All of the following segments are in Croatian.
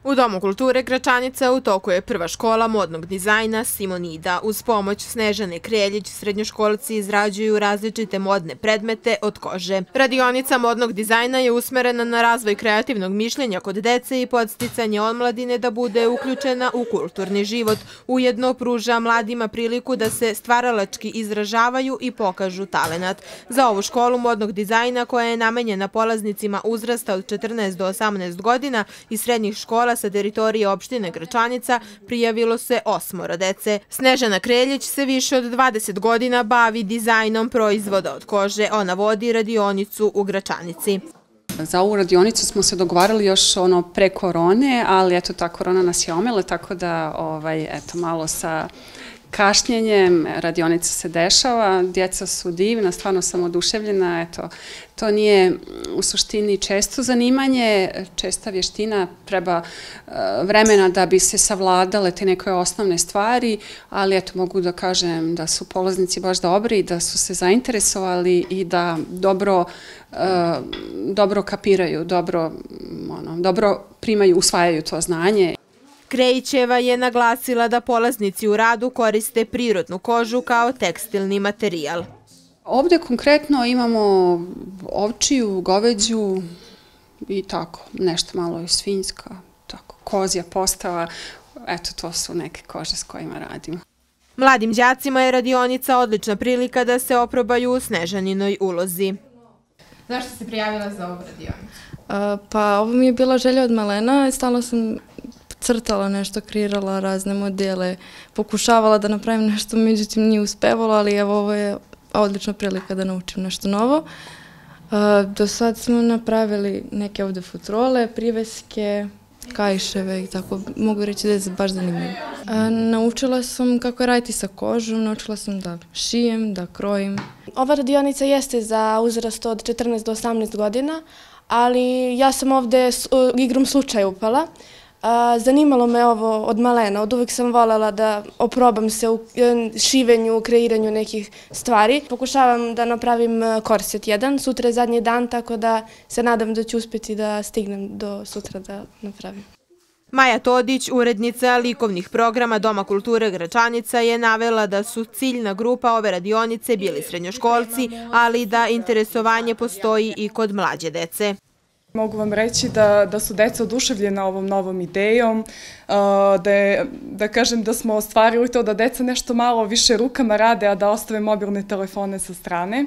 U Domu kulture Gračanica u toku je prva škola modnog dizajna Simonida. Uz pomoć Snežane Kreljić srednjoškolci izrađuju različite modne predmete od kože. Radionica modnog dizajna je usmerena na razvoj kreativnog mišljenja kod dece i podsticanje omladine da bude uključena u kulturni život. Ujedno pruža mladima priliku da se stvaralački izražavaju i pokažu talenat. Za ovu školu modnog dizajna, koja je namenjena polaznicima uzrasta od 14 do 18 godina i srednjih škola sa teritorije opštine Gračanica, prijavilo se 8 dece. Snežana Kreljić se više od 20 godina bavi dizajnom proizvoda od kože. Ona vodi radionicu u Gračanici. Za ovu radionicu smo se dogovarali još pre korone, ali eto ta korona nas je omela, tako da malo sa kašnjenjem radionica se dešava, djeca su divna, stvarno sam oduševljena, eto, to nije u suštini često zanimanje, česta vještina, treba vremena da bi se savladale te neke osnovne stvari, ali eto, mogu da kažem da su polaznici baš dobri, da su se zainteresovali i da dobro kapiraju, dobro primaju, usvajaju to znanje. Krejićeva je naglasila da polaznici u radu koriste prirodnu kožu kao tekstilni materijal. Ovdje konkretno imamo ovčiju, goveđu i tako, nešto malo i svinjska, tako, kozja postava, eto to su neke kože s kojima radimo. Mladim đacima je radionica odlična prilika da se oprobaju u Snežaninoj ulozi. Zašto si se prijavila za ovu radionicu? Pa ovo mi je bila želja od malena, stalno sam crtala nešto, kreirala razne modele, pokušavala da napravim nešto, međutim nije uspevalo, ali evo ovo je odlična prilika da naučim nešto novo. Do sad smo napravili neke ovdje futrole, priveske, kaiševe i tako, mogu reći da je baš zanimljivo. Naučila sam kako raditi sa kožom, naučila sam da šijem, da krojim. Ova radionica jeste za uzrast od 14 do 18 godina, ali ja sam ovdje igrom slučaja upala. Zanimalo me ovo od malena, od uvijek sam voljela da oprobam se u šivenju, u kreiranju nekih stvari. Pokušavam da napravim korset jedan, sutra je zadnji dan, tako da se nadam da ću uspjeti da stignem do sutra da napravim. Maja Todić, urednica likovnih programa Doma kulture Gračanica, je navela da su ciljna grupa ove radionice bili srednjoškolci, ali da interesovanje postoji i kod mlađe dece. Mogu vam reći da su deca oduševljena ovom novom idejom, da kažem da smo ostvarili to da deca nešto malo više rukama rade, a da ostave mobilne telefone sa strane.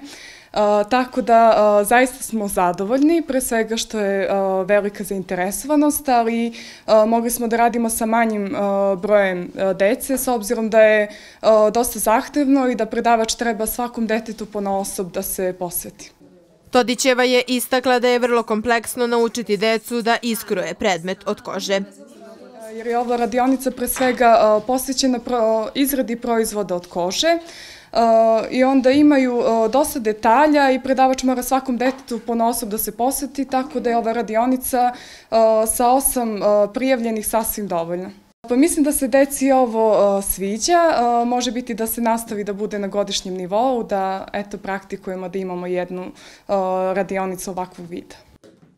Tako da zaista smo zadovoljni, pre svega što je velika zainteresovanost, ali mogli smo da radimo sa manjim brojem dece, s obzirom da je dosta zahtevno i da predavač treba svakom detetu ponaosob da se posveti. Todićeva je istakla da je vrlo kompleksno naučiti decu da iskroje predmet od kože. Jer je ova radionica pre svega posvećena izradi proizvoda od kože i onda imaju dosta detalja i predavač mora svakom detetu ponaosob da se posveti, tako da je ova radionica sa 8 prijavljenih sasvim dovoljna. Pa mislim da se deci ovo sviđa, može biti da se nastavi da bude na godišnjem nivou, da praktikujemo da imamo jednu radionicu ovakvog vida.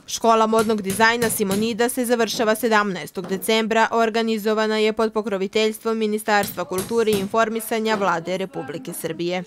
Škola modnog dizajna Simonida se završava 17. decembra, organizovana je pod pokroviteljstvom Ministarstva kulture i informisanja Vlade Republike Srbije.